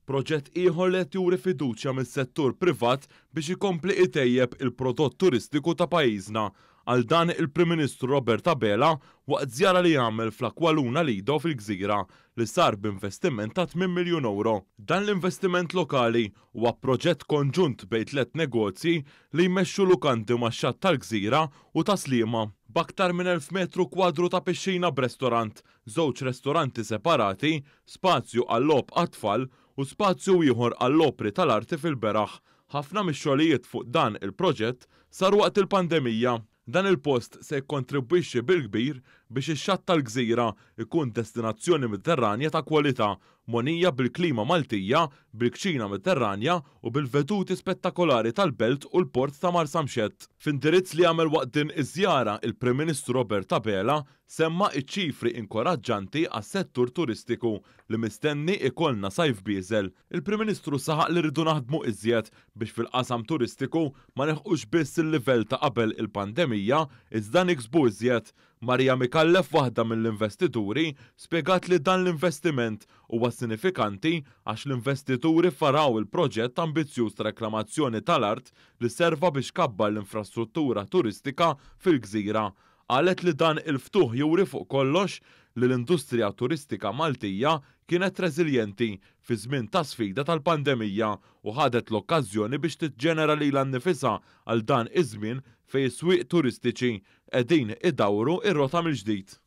Proġett ieħor li qed juri fiduċja mis-settur privat biex ikompli itejjeb il-prodott turistiku ta' pajjiżna. Qal dan il-Prim Ministru Robert Abela waqt żjara li għamel fl-Aqualuna Lido fil-Gżira li sar b'investiment ta' 8 miljun ewro. Dan l-investiment lokali huwa proġett konġunt bejn tlett negozji li jmexxu lukandi max-xatt tal-Gżira u ta' Sliema. B'aktar minn 1,000 metru kwadru ta' pixxina b'restorant, żewġ restoranti separati, spazju għal-logħob għat-tfal u spazju ieħor għall-opri tal-arti fil-beraħ. Ħafna mix-xogħlijiet fuq dan il-proġett saru waqt il-pandemija. Dan il-post se jikkontribwixxi bil-kbir biex ix-xatt tal-gżira jkun destinazzjoni Mediterranja ta' kwalità, mogħnija bil-klima Maltija, bil-kċina Mediterranja u bil-veduti spettakolari tal-belt u l-port ta' Marsamxett. F'indirizz li għamel waqt din iż-żjara, il-Prim Ministru Robert Abela Semma ċ-ċifri inkoraġġanti għas-settur turistiku li mistenni ikollna sajf bieżel. Il-Prim Ministru saħaq li rridu naħdmu iżjed biex fil-qasam turistiku ma nilħqux biss il-livell ta' qabel il-pandemija iżda niksbu iżjed. Maria Micallef waħda mill-investituri spjegat li dan l-investiment huwa sinifikanti għax l-investituri faraw il-proġett ambizzjuż ta' reklamazzjoni tal-art li serva biex kabbar l-infrastruttura turistika fil-gżira. Qalet li dan il-ftuħ juri fuq kollox li l-industrija turistika Maltija kienet reżiljenti fi żmien ta' sfida tal-pandemija u ħadet l-okkażjoni biex tiġġenera lilha nnifisha għal dan iż-żmien fejn is-swieq turistiċi qegħdin idawru r-rota mill-ġdid.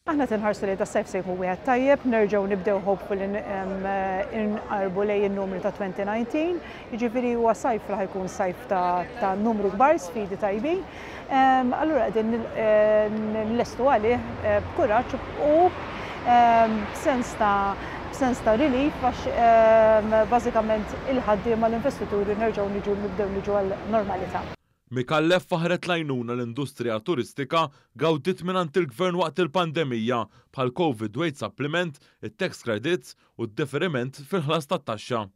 Aħna qed inħarsu lejn das-sajf se jkun wieħed tajjeb, nerġgħu nibdew hopefully inqarbu lejn in-numri ta' 2019, jiġifieri huwa sajf li ħa jkun sajf ta' numru kbar, sfidi tajbin. Allura qegħdin nlestu għalih b'kuraġġ u b'sens ta' b'sens ta' relief għax bażikament il-ħaddiema l-investituri nerġgħu niġu nibdew niġu għal normalità. Micallef faħħret l-għajnuna l-industrija turistika gawdiet mingħand il-Gvern waqt il-pandemija bħall-Covid Wage Supplement, it-tax credits u d-deferiment fil-ħlas tat-taxxa.